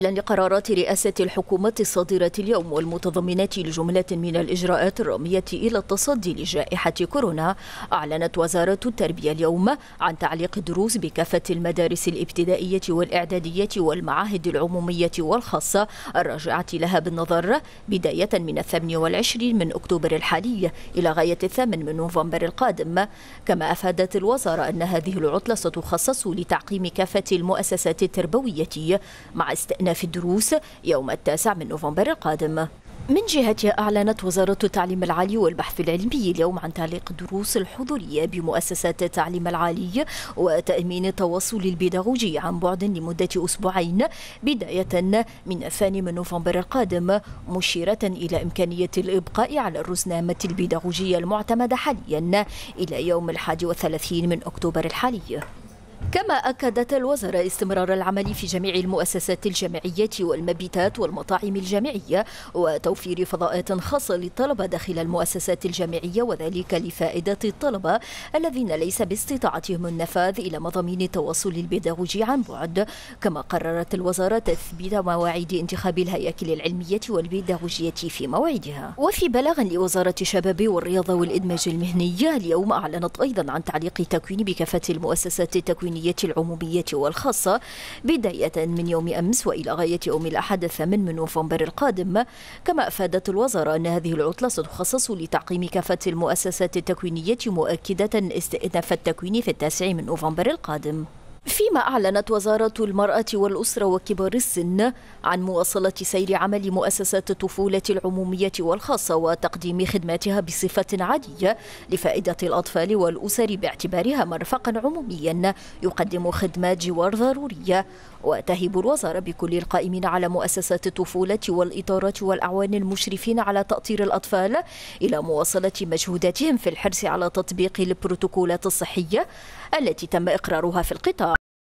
لقرارات رئاسة الحكومة الصادرة اليوم والمتضمنة لجملة من الإجراءات الرامية إلى التصدي لجائحة كورونا، أعلنت وزارة التربية اليوم عن تعليق الدروس بكافة المدارس الابتدائية والإعدادية والمعاهد العمومية والخاصة الراجعة لها بالنظر بداية من 28 من أكتوبر الحالي إلى غاية 8 من نوفمبر القادم. كما أفادت الوزارة أن هذه العطلة ستخصص لتعقيم كافة المؤسسات التربوية مع استئناف في الدروس يوم 9 من نوفمبر القادم. من جهتها أعلنت وزارة التعليم العالي والبحث العلمي اليوم عن تعليق الدروس الحضورية بمؤسسات التعليم العالي وتأمين التواصل البيداغوجي عن بعد لمدة أسبوعين بداية من 2 من نوفمبر القادم، مشيرة إلى إمكانية الإبقاء على الرزنامة البيداغوجية المعتمدة حاليا إلى يوم 31 من أكتوبر الحالي. كما أكدت الوزارة استمرار العمل في جميع المؤسسات الجامعية والمبيتات والمطاعم الجامعية وتوفير فضاءات خاصة للطلبة داخل المؤسسات الجامعية، وذلك لفائدة الطلبة الذين ليس باستطاعتهم النفاذ إلى مضامين التواصل البيداغوجي عن بعد. كما قررت الوزارة تثبيت مواعيد انتخاب الهياكل العلمية والبيداغوجية في موعدها. وفي بلاغ لوزارة الشباب والرياضة والإدماج المهني اليوم أعلنت أيضا عن تعليق التكوين بكافة المؤسسات التكوينية العمومية والخاصة بداية من يوم أمس وإلى غاية يوم الأحد 8 من نوفمبر القادم. كما أفادت الوزارة أن هذه العطلة ستخصص لتعقيم كافة المؤسسات التكوينية، مؤكدة استئناف التكوين في 9 من نوفمبر القادم. فيما أعلنت وزارة المرأة والأسرة وكبار السن عن مواصلة سير عمل مؤسسات الطفولة العمومية والخاصة وتقديم خدماتها بصفة عادية لفائدة الأطفال والأسر باعتبارها مرفقا عموميا يقدم خدمات جوار ضرورية. وتهب الوزارة بكل القائمين على مؤسسات الطفولة والإطارات والأعوان المشرفين على تأطير الأطفال إلى مواصلة مجهوداتهم في الحرص على تطبيق البروتوكولات الصحية التي تم إقرارها في القطاع.